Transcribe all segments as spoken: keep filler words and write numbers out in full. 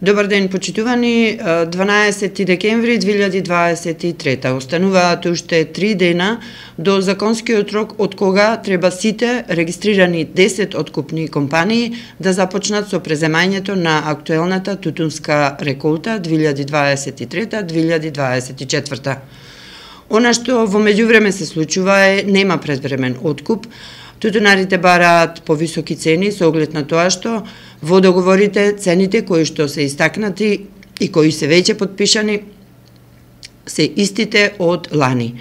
Добар ден, почитувани. дванаесети декември две илјади дваесет и трета. Остануваат уште три дена до законскиот рок од кога треба сите регистрирани десет откупни компании да започнат со преземањето на актуелната тутунска реколта две илјади дваесет и трета - две илјади дваесет и четврта. Она што во меѓувреме се случува е нема предвремен откуп. Тутунарите бараат повисоки цени со оглед на тоа што во договорите цените кои што се истакнати и кои се веќе подпишани се истите од лани.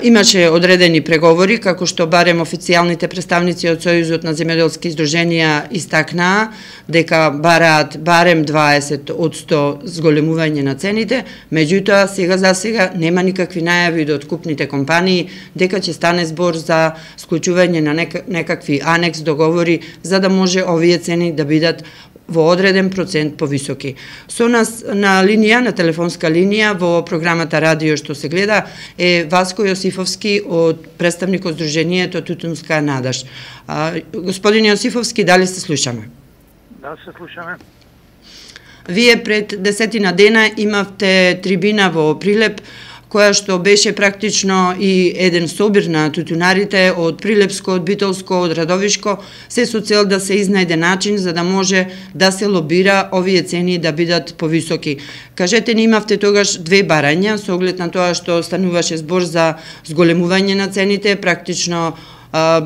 Имаше одредени преговори, како што барем официјалните представници од Сојузот на земјоделски издруженија истакнаа дека бараат барем дваесет одсто зголемување на цените, меѓутоа сега за сега нема никакви најави од откупните компании дека ќе стане збор за склучување на некакви анекс договори за да може овие цени да бидат во одреден процент повисоки. Со нас на линија, на телефонска линија, во програмата Радио што се гледа, е Васко Јосифовски од представник од Сдруженијето Тутунска надеж. Господин Јосифовски, дали се слушаме? Да, се слушаме. Вие пред десетина дена имавте трибина во Прилеп, која што беше практично и еден собир на тутунарите од Прилепско, од Битолско, од Радовишко, се со цел да се изнајде начин за да може да се лобира овие цени да бидат повисоки. Кажете ни, имавте тогаш две барања со оглед на тоа што стануваше збор за зголемување на цените, практично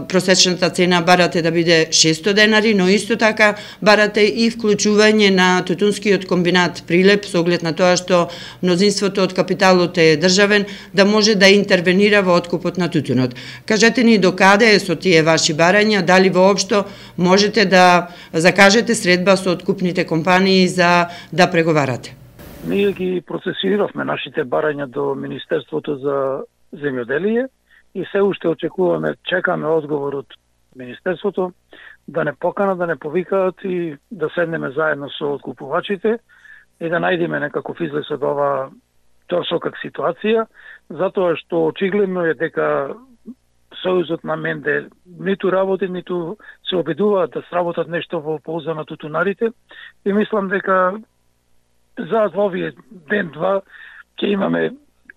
просечната цена барате да биде шесто денари, но исто така барате и вклучување на тутунскиот комбинат Прилеп со оглед на тоа што мнозинството од капиталот е државен, да може да интервенира во откупот на тутунот. Кажете ни докаде е со тие ваши барања, дали воопшто можете да закажете средба со откупните компании за да преговарате? Ние ги процесиравме нашите барања до Министерството за земјоделие и се уште очекуваме, чекаме одговор од Министерството да не поканат, да не повикаат и да седнеме заедно со откупувачите и да најдеме некаков излез од ова торсокак ситуација, затоа што очигледно е дека Сојузот на Менде ниту работи, ниту се обидуваат да сработат нешто во полза на тутунарите и мислам дека за овие ден-два ќе имаме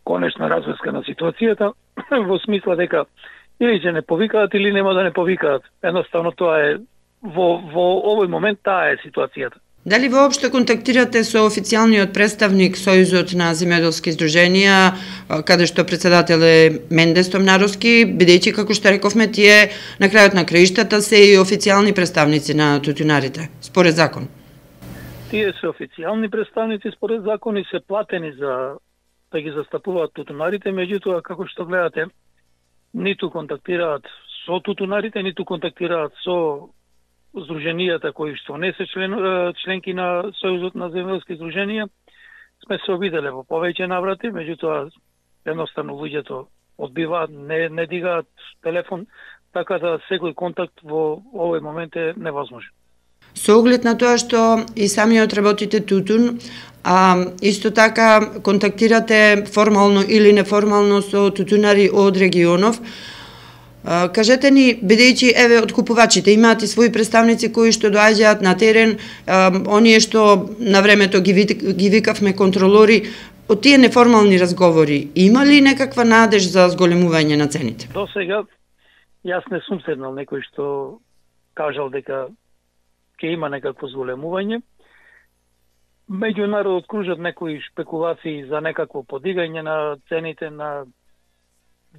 конечна разврска на ситуацијата, во смисла дека или ќе не повикаат или нема да не повикаат. Едноставно тоа е во во овој момент таа е ситуацијата. Дали воопшто контактирате со официјалниот представник Сојузот на земјоделски издруженија, каде што председател е Менде Стомнаровски, бидејќи како што рековме тие на крајот на краиштата се и официјални представници на тутунарите според закон? Тие се официјални представници според закон и се платени за да ги застапуваат тутунарите, меѓутоа како што гледате ниту контактираат со тутунарите, ниту контактираат со здруженијата кои што не се член, членки на Сојузот на земјоделски издруженија. Сме се обиделе во повеќе наврати, меѓутоа едноставно луѓето одбиваат, не не дигаат телефон, така да секој контакт во овој момент е невозможен. Со оглед на тоа што и самиот работите тутун, а исто така контактирате формално или неформално со тутунари од регионов, а, кажете ни, бидејќи еве откупувачите имаат и своји представници кои што доаѓаат на терен, а, оние што на времето ги, ги викавме контролори, од тие неформални разговори, има ли некаква надеж за зголемување на цените? До сега, јас не сум седнал некој што кажал дека ќе има некакво зголемување. Меѓу народот кружат некои шпекулации за некакво подигање на цените на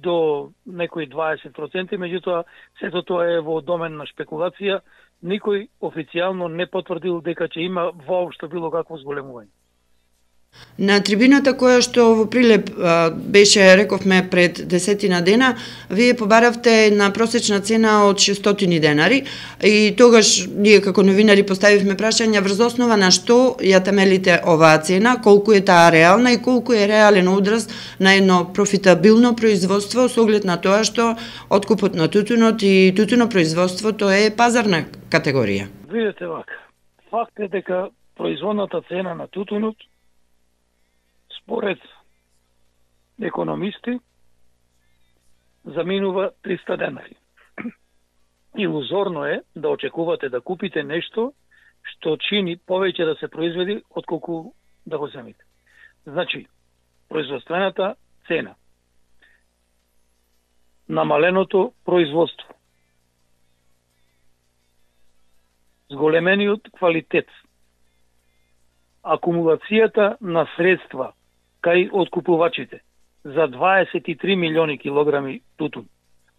до некои дваесет проценти, меѓутоа сето тоа е во домен на шпекулација. Никој официјално не потврдил дека ќе има воопшто било какво зголемување. На трибината која што во Прилеп а, беше, рековме, пред десетина дена, вие побаравте на просечна цена од шестстотини денари и тогаш ние како новинари поставивме прашања врз основа на што ја темелите оваа цена, колку е таа реална и колку е реален одраз на едно профитабилно производство со оглед на тоа што откупот на тутунот и тутунопроизводството е пазарна категорија. Видете вака, факт е дека производната цена на тутунот според економисти заминува триста денари. Илузорно е да очекувате да купите нешто што чини повеќе да се произведи отколку да го земите. Значи, производствената цена, намаленото производство, зголемениот квалитет, акумулацијата на средства кај откупувачите за дваесет и три милиони килограми тутун,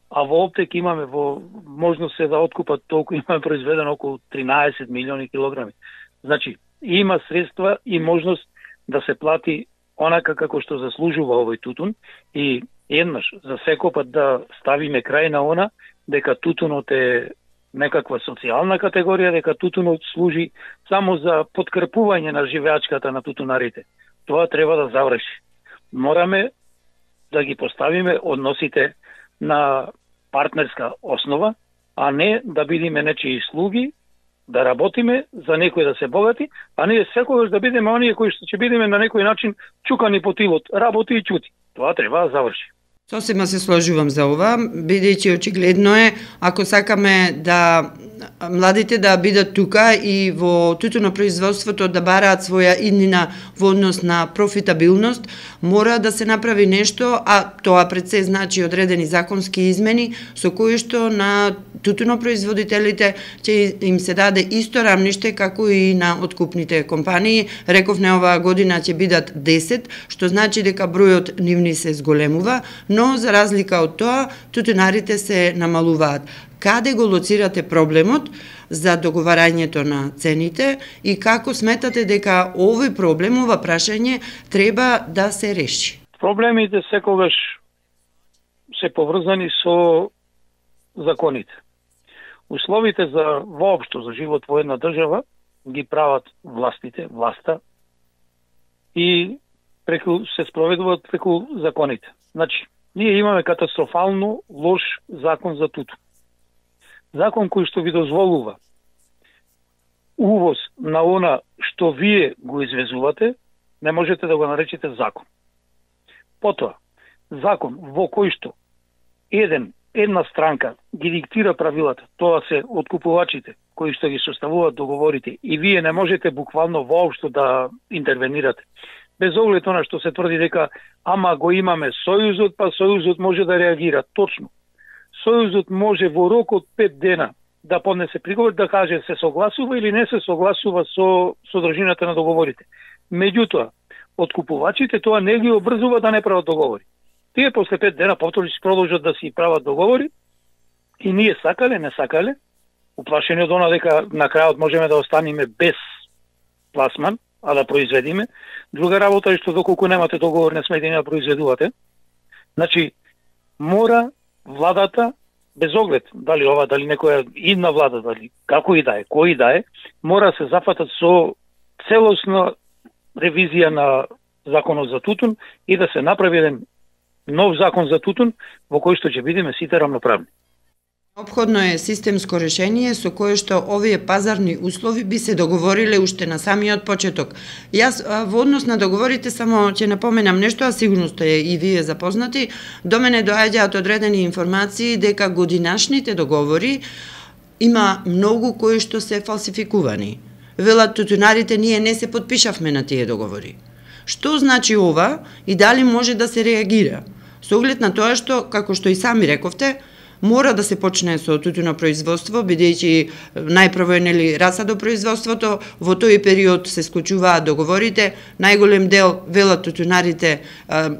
а во Оптек имаме во можност се да откупат толку, имаме произведено околу тринаесет милиони килограми. Значи, има средства и можност да се плати онака како што заслужува овој тутун и еднаш за секопат да ставиме крај на она дека тутунот е некаква социјална категорија, дека тутунот служи само за подкрепување на живеачката на тутунарите. Тоа треба да заврши. Мораме да ги поставиме односите на партнерска основа, а не да бидеме нечии слуги, да работиме за некој да се богати, а ние секогаш да бидеме оние кои што ќе бидеме на некој начин чукани по тилот, работи и чути. Тоа треба да заврши. Сосема се сложувам за ова, бидејќи очигледно е, ако сакаме да младите да бидат тука и во тутунопроизводството да бараат своја иднина во однос на профитабилност, мора да се направи нешто, а тоа пред се значи одредени законски измени со кои што на тутунопроизводителите ќе им се даде исто рамниште како и на откупните компании. Рековне оваа година ќе бидат десет, што значи дека бројот нивни се зголемува, но за разлика од тоа, тутунарите се намалуваат. Каде го лоцирате проблемот за договарањето на цените и како сметате дека овој проблем, ова прашање, треба да се реши? Проблемите секогаш се поврзани со законите. Условите за воопшто за живот во една држава ги прават властите, власта и преку се спроведуваат преку законите. Значи, ние имаме катастрофално лош закон за тутун. Закон кој што ви дозволува увоз на она што вие го извезувате, не можете да го наречете закон. Потоа, закон во кој што еден, една странка ги диктира правилата, тоа се откупувачите кои што ги составуваат договорите и вие не можете буквално воопшто да интервенирате. Без оглед она што се тврди дека ама го имаме Сојузот, па Сојузот може да реагира. Точно. Сојузот може во рок од пет дена да поднесе приговор, да каже се согласува или не се согласува со содржината на договорите. Меѓутоа, откупувачите тоа не ги обрзува да не прават договори. Тие после пет дена повторно ќе продолжат да си прават договори и ние сакале, не сакале, уплашени од она дека на крајот можеме да останеме без пласман, а да произведиме. Друга работа е што доколку немате договор не смете да произведувате. Значи, мора владата, без оглед дали ова, дали некоја идна влада, дали како и да е, кој да е, мора се зафатат со целосна ревизија на законот за тутун и да се направи еден нов закон за тутун во кој што ќе бидеме сите рамноправни. Неопходно е системско решение со кое што овие пазарни услови би се договориле уште на самиот почеток. Јас во однос на договорите само ќе напоменам нешто, а сигурно сте и вие запознати. До мене доаѓаат одредени информации дека годинашните договори има многу кои што се фалсификувани. Велат тутунарите, ние не се подпишавме на тие договори. Што значи ова и дали може да се реагира? Со оглед на тоа што, како што и сами рековте, мора да се почне со тутунопроизводство, бидејќи најпрво е нели расадопроизводството, во тој период се склучуваат договорите, најголем дел велат тутунарите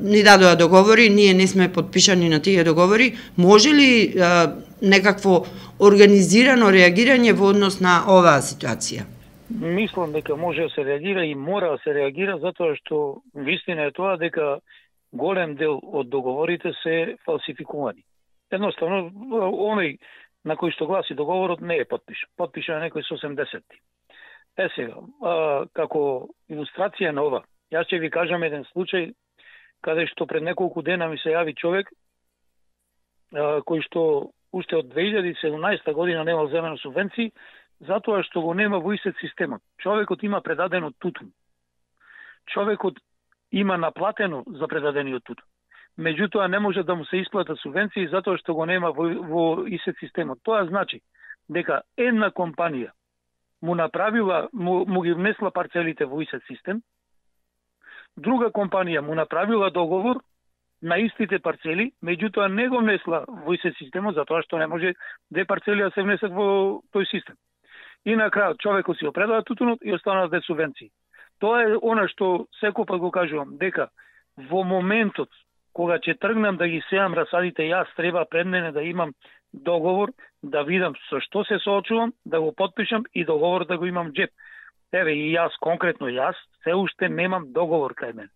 ни дадоа договори, ние не сме подпишани на тие договори. Може ли а, некакво организирано реагирање во однос на оваа ситуација? Мислам дека може да се реагира и мора да се реагира, затоа што вистина е тоа дека голем дел од договорите се фалсификувани. Едноставно, оној на кој што гласи договорот не е подпишан. Подпишан е некој со осемдесетти. Е сега, а, како илустрација на ова, јас ќе ви кажам еден случај каде што пред неколку дена ми се јави човек а, кој што уште од две илјади и седумнаесета година немал земено субвенции, затоа што го нема во ИСЕТ системот. Човекот има предадено тутун. Човекот има наплатено за предадениот тутун. Меѓутоа не може да му се исплатат субвенции затоа што го нема во, во ИСЕТ системот. Тоа значи дека една компанија му направила, му, му ги внесла парцелите во ИСЕТ систем, друга компанија му направила договор на истите парцели, меѓутоа не го внесла во ИСЕТ системот, затоа што не може две парцели да се внесат во тој систем. И на крајот човекот си опредава тутунот и останаа две субвенции. Тоа е она што секој го кажувам, дека во моментот кога ќе тргнам да ги сеам расадите, јас треба пред мене да имам договор, да видам со што се соочувам, да го потпишам и договор да го имам джеп. Еве и јас, конкретно јас, се уште немам договор кај мене.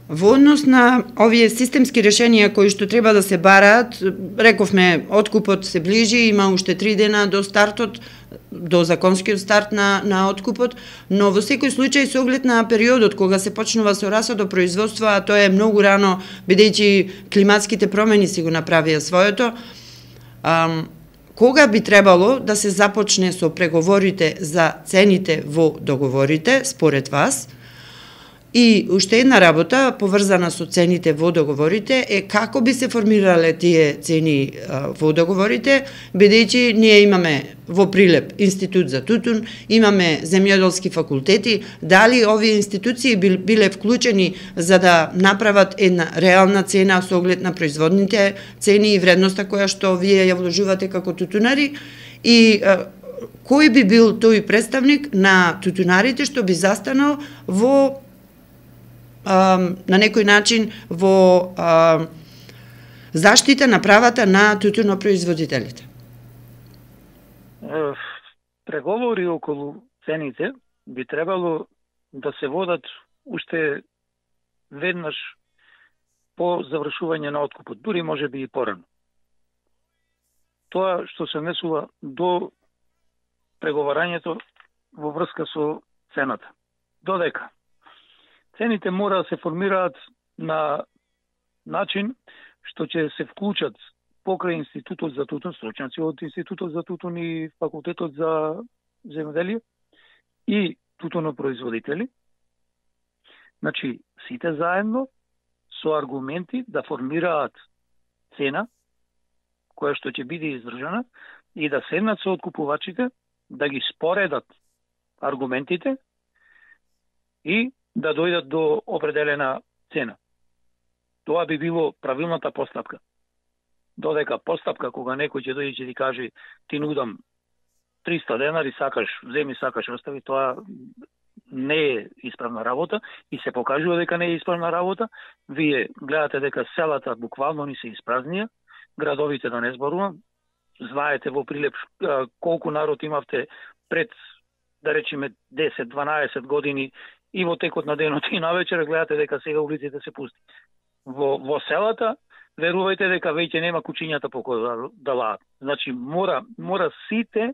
Во однос на овие системски решенија кои што треба да се бараат, рековме, откупот се ближи, има уште три дена до стартот, до законскиот старт на, на откупот, но во секој случај со оглед на периодот кога се почнува со расадопроизводство, а тоа е многу рано, бидејќи климатските промени си го направија своето, ам, кога би требало да се започне со преговорите за цените во договорите, според вас? И уште една работа, поврзана со цените во договорите, е како би се формирале тие цени а, во договорите, бидејќи ние имаме во Прилеп Институт за тутун, имаме земјоделски факултети, дали овие институции биле вклучени за да направат една реална цена со оглед на производните цени и вредноста која што вие ја вложувате како тутунари, и а, кој би бил тој представник на тутунарите што би застанал во на некој начин во а, заштита на правата на тутунопроизводителите? Преговори околу цените би требало да се водат уште веднаш по завршување на откупот, дури може би и порано. Тоа што се несува до преговарањето во врска со цената. Додека цените мора да се формираат на начин што ќе се вклучат покрај Институтот за тутун, стручњаци од Институтот за тутун и Факултетот за земјоделие и тутунопроизводители. Значи, сите заедно со аргументи да формираат цена која што ќе биде издржана и да седнат со откупувачите, да ги споредат аргументите и да дојдат до определена цена. Тоа би било правилната постапка. Додека постапка кога некој ќе дојде и ти каже ти нудам триста денари, сакаш земи, сакаш остави, тоа не е исправна работа и се покажува дека не е исправна работа. Вие гледате дека селата буквално ни се испразнија, градовите да не зборувам. Знаете во Прилеп колку народ имавте пред, да речеме, десет-дванаесет години и во текот на денот и навечер, гледате дека сега улиците се пусти. Во, во селата, верувајте дека веќе нема кучињата по кои да, да лаат. Значи, мора, мора сите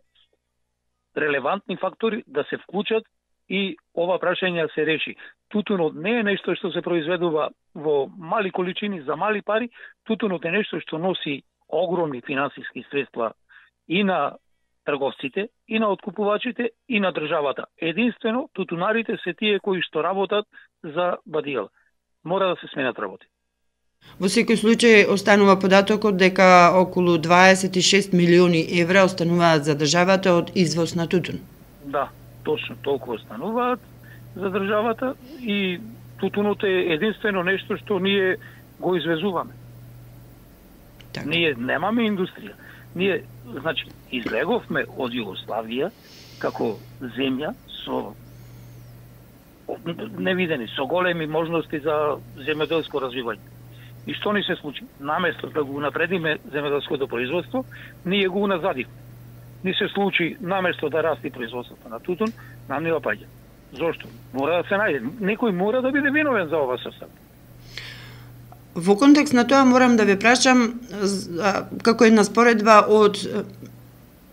релевантни фактори да се вклучат и ова прашање се реши. Тутунот не е нешто што се произведува во мали количини за мали пари, тутунот е нешто што носи огромни финансиски средства и на трговците, и на откупувачите, и на државата. Единствено, тутунарите се тие кои што работат за бадијал. Мора да се сменат работи. Во секој случај останува податокот дека околу дваесет и шест милиони евра остануваат за државата од извоз на тутун. Да, точно толку остануваат за државата и тутунот е единствено нешто што ние го извезуваме. Так. Ние немаме индустрија. Ние, значи, излеговме од Југославија како земја со невидени, со големи можности за земјоделско развивање. И што ни се случи? Наместо да го напредиме земјоделското производство, ние го уназадивме. Ни се случи, наместо да расти производството на тутун, нам не опаѓа. Зошто? Мора да се најде. Некој мора да биде виновен за ова состав. Во контекст на тоа морам да ве прашам како една споредба од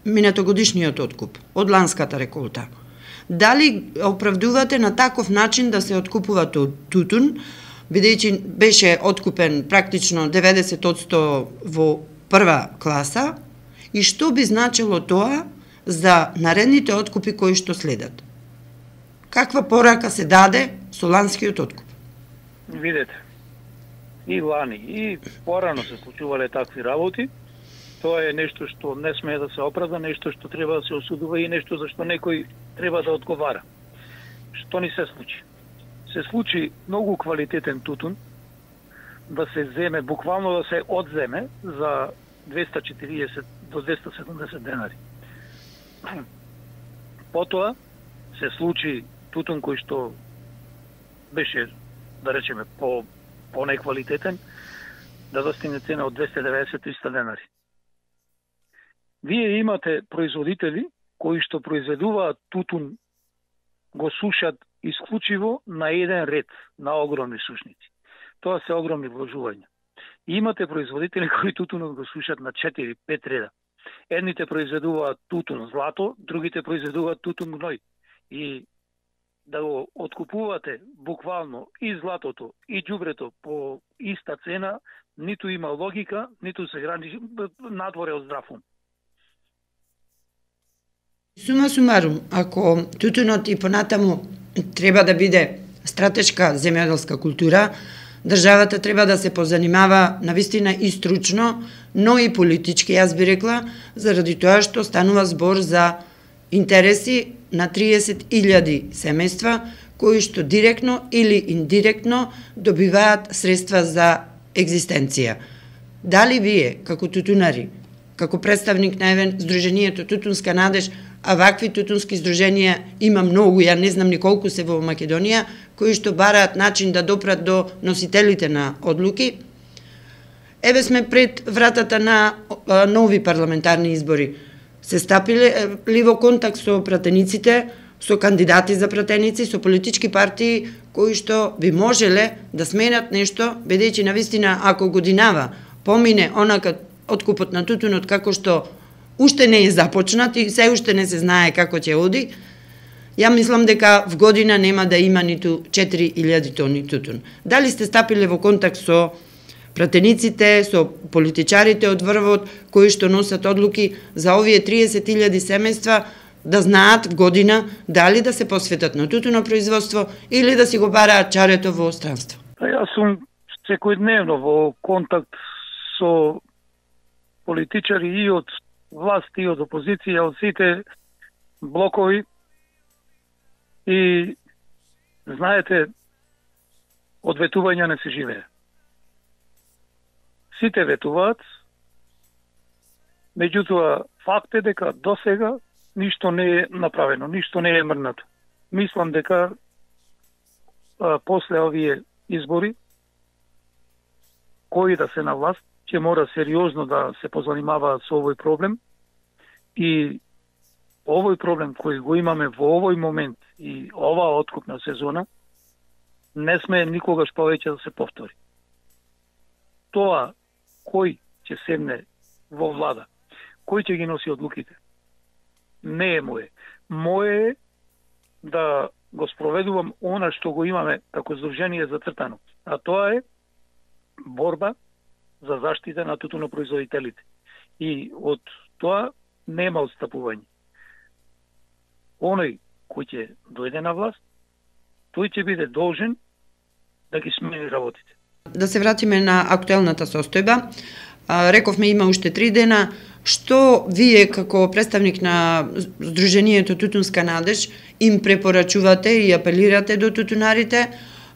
минатогодишниот откуп, од ланската реколта. Дали оправдувате на таков начин да се откупува тутун, бидејќи беше откупен практично деветдесет одсто во прва класа, и што би значило тоа за наредните откупи кои што следат? Каква порака се даде со ланскиот откуп? Видете, и лани, и порано се случувале такви работи, Тоа е нешто што не смее да се оправда, нешто што треба да се осудува и нешто за што некој треба да одговара. Што ни се случи? Се случи многу квалитетен тутун да се земе, буквално да се одземе за двеста четириесет до двеста седумдесет денари. Потоа се случи тутун кој што беше, да речеме, по, по неквалитетен, да достигне цена од двеста и деветдесет до триста денари. Вие имате производители кои што произведуваат тутун, го сушат исклучиво на еден ред, на огромни сушници. Тоа се огромни вложувања. И имате производители кои тутунот го сушат на четири пет реда. Едните произведуваат тутун злато, другите произведуваат тутун гној. И да го откупувате буквално и златото и ѓубрето по иста цена, ниту има логика, ниту се грани надворе од здрав ум. Сума сумарум, ако тутунот и понатаму треба да биде стратешка земјоделска култура, државата треба да се позанимава навистина и стручно, но и политички, јас би рекла, заради тоа што станува збор за интереси на триесет илјади семејства, кои што директно или индиректно добиваат средства за екзистенција. Дали вие, како тутунари, како представник на евен Сдруженијето Тутунска надеж, а вакви тутунски здруженија има многу, ја не знам ни колку се во Македонија, кои што бараат начин да допрат до носителите на одлуки. Еве сме пред вратата на а, нови парламентарни избори. Се стапиле ли во контакт со пратениците, со кандидати за пратеници, со политички партии кои што би можеле да сменат нешто, бидејќи навистина ако годинава помине онака откупот на тутунот како што уште не е започнат и се уште не се знае како ќе оди, ја мислам дека в година нема да има ниту четири илјади тони тутун. Дали сте стапиле во контакт со пратениците, со политичарите од врвот, кои што носат одлуки за овие триесет илјади семејства, да знаат в година дали да се посветат на тутуно производство или да си го бараат чарето во странство? Јас сум секојдневно во контакт со политичари и од власт и од опозиција, од сите блокови. И знаете, од ветувања не се живее. Сите ветуваат, меѓутоа факт е дека досега ништо не е направено, ништо не е мрнато. Мислам дека а, после овие избори, кои да се на власт, ќе мора сериозно да се позанимаваат со овој проблем и овој проблем кој го имаме во овој момент и оваа откупна сезона не сме никогаш повеќе да се повтори. Тоа кој ќе седне во влада, кој ќе ги носи одлуките, не е моје. Моје е да го спроведувам она што го имаме како здружение зацртано, а тоа е борба за заштита на тутунопроизводителите. И од тоа нема отстапување. Оној кој ќе дојде на власт, тој ќе биде должен да ги смени работите. Да се вратиме на актуелната состојба. Рековме има уште три дена. Што вие како представник на Сдруженијето Тутунска надеж им препорачувате и апелирате до тутунарите?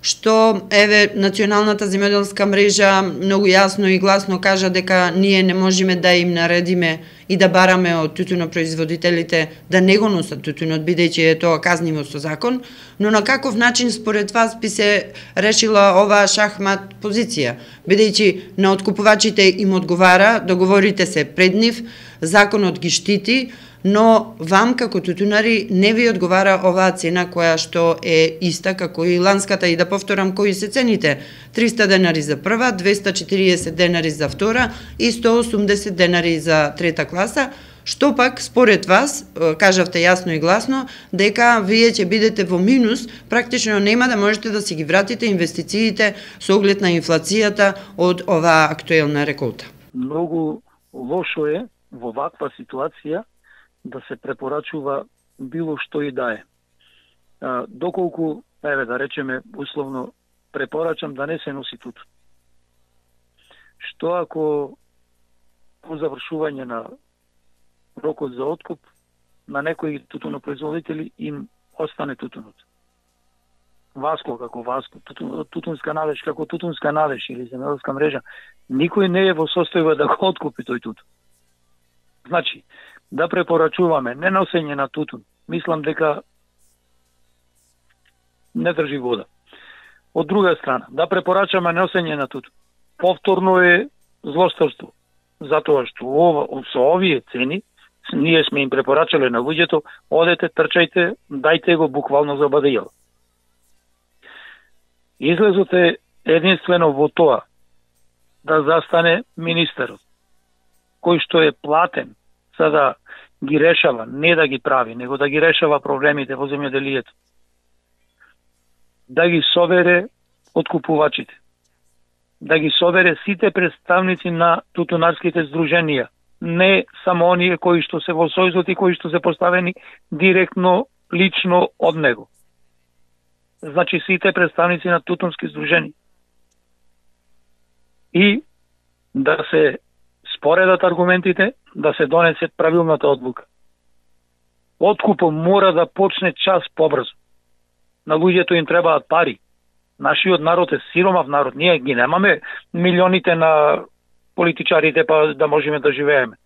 Што еве Националната земјоделска мрежа многу јасно и гласно кажа дека ние не можеме да им наредиме и да бараме од тутунопроизводителите да не го носат тутунот, бидејќи е тоа казниво со закон, но на каков начин според вас би се решила оваа шахмат позиција, бидејќи на откупувачите им одговара, договорите се пред нив, законот ги штити, но вам како тутунари не ви одговара оваа цена која што е иста како и ланската, и да повторам кои се цените: триста денари за прва, двеста четириесет денари за втора и сто осумдесет денари за трета класа. Што пак според вас, кажавте јасно и гласно, дека вие ќе бидете во минус, практично нема да можете да си ги вратите инвестициите со оглед на инфлацијата од оваа актуелна реколта. Многу лошо е во ваква ситуација да се препорачува било што и да е. А, доколку, еве да речеме, условно, препорачам да не се носи тутун. Што ако по завршување на рокот за откуп на некои тутунопроизводители им остане тутунот. Васко како Васко, тутун, тутунска належ како тутунска належ или земјоделска мрежа, никој не е во состојба да го откупи тој тутун. Значи, да препорачуваме не носење на тутун, мислам дека не држи вода. Од друга страна, да препорачаме носење на тутун, повторно е злосторство, затоа што ова, со овие цени, ние сме им препорачале на луѓето, одете, трчајте, дајте го буквално за бадејал. Излезот е единствено во тоа да застане министерот, кој што е платен за да ги решава, не да ги прави, него да ги решава проблемите во земјоделието. Да ги собере откупувачите, да ги собере сите представници на тутунарските здруженија, не само оние кои што се во сојузот и кои што се поставени директно, лично од него. Значи сите представници на тутунски здруженија. И да се споредат аргументите, да се донесе правилната одлука. Откупот мора да почне час побрзо. На луѓето им требаат пари. Нашиот народ е сиромав народ. Ние ги немаме милионите на политичарите па да можеме да живееме.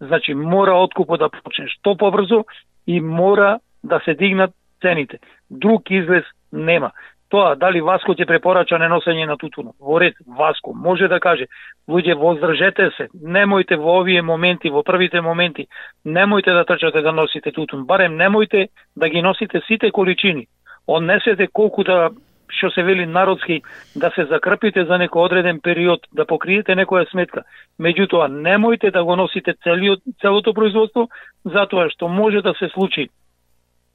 Значи мора откупот да почне што побрзо и мора да се дигнат цените. Друг излез нема. Тоа дали Васко ќе препорача неносење на тутун. Во ред, Васко може да каже: луѓе, воздржете се, немојте во овие моменти, во првите моменти, немојте да трчате да носите тутун. Барем немојте да ги носите сите количини. Однесете колку да, што се вели народски, да се закрпите за некој одреден период, да покриете некоја сметка. Меѓутоа, немојте да го носите целиот, целото производство, затоа што може да се случи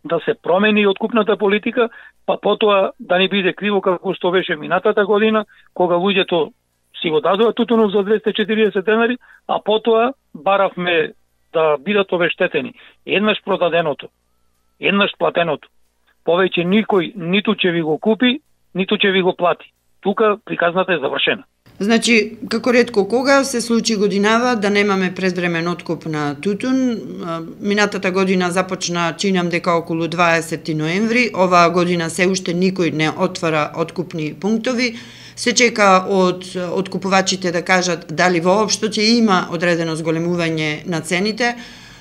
да се промени откупната политика, па потоа да не биде криво како што беше минатата година, кога луѓето си го дадоа тутунот за двесте и четириесет денари, а потоа баравме да бидат обештетени. Еднаш продаденото, еднаш платеното. Повеќе никој ниту ќе ви го купи, ниту ќе ви го плати. Тука приказната е завршена. Значи, како ретко кога се случи годинава да немаме предвремен откуп на тутун. Минатата година започна, чинам дека околу дваесети ноември, оваа година се уште никој не отвара откупни пунктови. Се чека од откупувачите да кажат дали воопшто ќе има одредено зголемување на цените,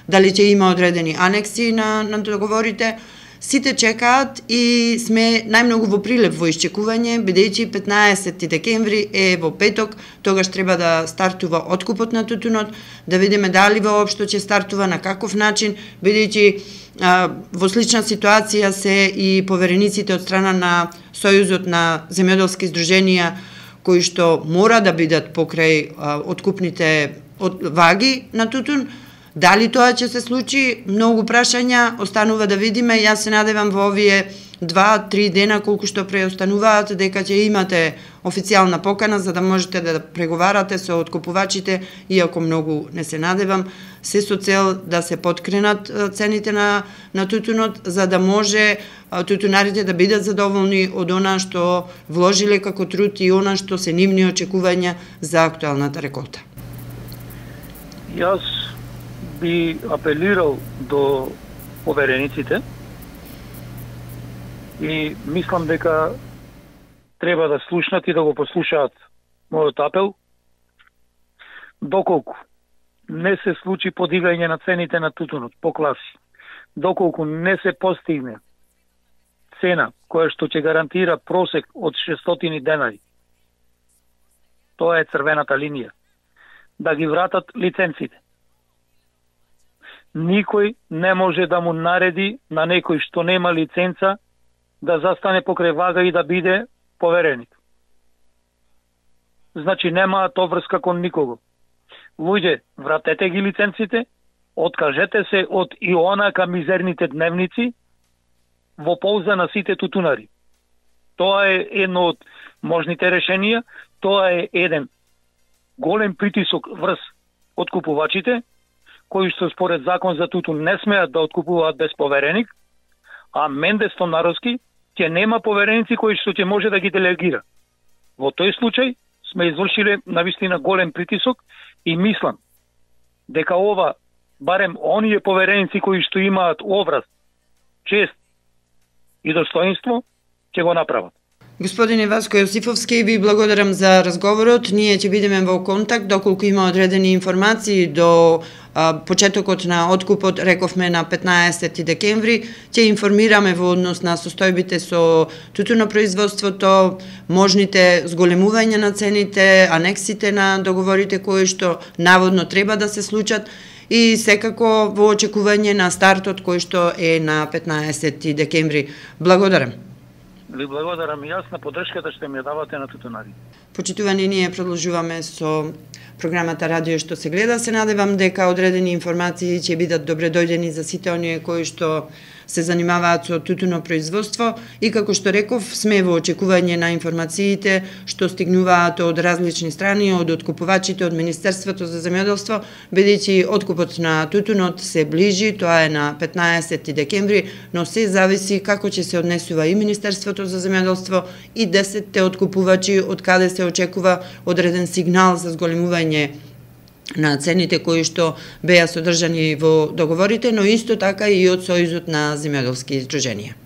дали ќе има одредени анекси на, на договорите. Сите чекаат и сме најмногу во прилеп во исчекување, бидејќи петнаесети декември е во петок, тогаш треба да стартува откупот на тутунот, да видиме дали воопшто ќе стартува, на каков начин, бидејќи во слична ситуација се и поверениците од страна на Сојузот на земјоделски здруженија, кои што мора да бидат покрај а, откупните од ваги на тутун. Дали тоа ќе се случи? Многу прашања, останува да видиме. Јас се надевам во овие два-три дена, колку што преостануваат, дека ќе имате официјална покана за да можете да преговарате со откупувачите, иако многу не се надевам, се со цел да се подкренат цените на, на тутунот, за да може тутунарите да бидат задоволни од она што вложиле како труд и она што се нивни очекувања за актуелната реколта. Јас би апелирал до поверениците и мислам дека треба да слушнат и да го послушаат мојот апел. Доколку не се случи подигање на цените на тутунот по класи, доколку не се постигне цена која што ќе гарантира просек од шестстотини денари, тоа е црвената линија, да ги вратат лиценците. Никој не може да му нареди на некој што нема лиценца да застане покрај вага и да биде повереник. Значи немаат обврска кон никого. Луѓе, вратете ги лиценците, откажете се од и онака мизерните дневници во полза на сите тутунари. Тоа е едно од можните решенија, тоа е еден голем притисок врз откупувачите, кои што според закон за тутун не смеат да откупуваат без повереник, а Менде Стонаровски ќе нема повереници кои што ќе може да ги делегира. Во тој случај сме извршиле навистина голем притисок и мислам дека ова, барем оние повереници кои што имаат образ, чест и достоинство, ќе го направат. Господине Васко Јосифовски, ви благодарам за разговорот. Ние ќе бидеме во контакт доколку има одредени информации до а, почетокот на откупот, рековме на петнаесети декември, ќе информираме во однос на состојбите со тутунопроизводството, можните зголемувања на цените, анексите на договорите кои што наводно треба да се случат и секако во очекување на стартот кој што е на петнаесети декември. Благодарам. Ви благодарам и јас на поддршката што ми ја давате на тутунари. Почитувани, ние продолжуваме со програмата Радио што се гледа. Се надевам дека одредени информации ќе бидат добре дојдени за сите оние кои што се занимаваат со тутунопроизводство и како што реков, сме во очекување на информациите што стигнуваат од различни страни, од откупувачите, од Министерството за земјоделство, бидејќи откупот на тутунот се ближи, тоа е на петнаесети декември, но се зависи како ќе се однесува и Министерството за земјоделство и десетте откупувачи, од каде се очекува одреден сигнал за зголемување на цените кои што беа содржани во договорите, но исто така и од Сојузот на земјоделски издруженија.